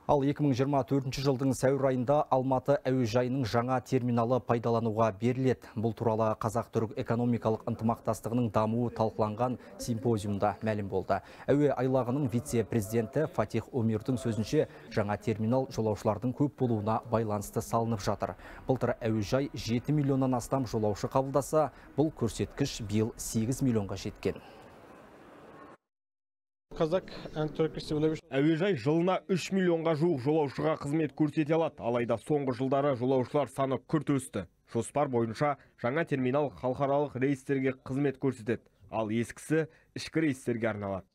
Ал 2024 жылдың сәуір айында Алматы әуежайының жаңа терминалы пайдалануға беріледі. Бұл туралы Қазақ-түрік экономикалық ынтымақтастығының дамуы талқыланған симпозиумда мәлім болды. Әуе айлағының вице-президенті Фатих Омирдің сөзінше, жаңа терминал жолаушылардың көп болуына байланысты салынып жатыр. Былтыр әуежай 7 миллионнан астам жолаушы қабылдаса, бұл көрсеткіш биыл 8 миллионға жеткен. Әуежай жылына 3 миллионға жуық жолаушыға қызмет көрсете алады. Алайда соңғы жылдары жолаушылар саны күрт өсті. Жоспар бойынша жаңа терминал халықаралық рейстерге қызмет көрсетеді, ал ескісі ішкі рейстерге арналады.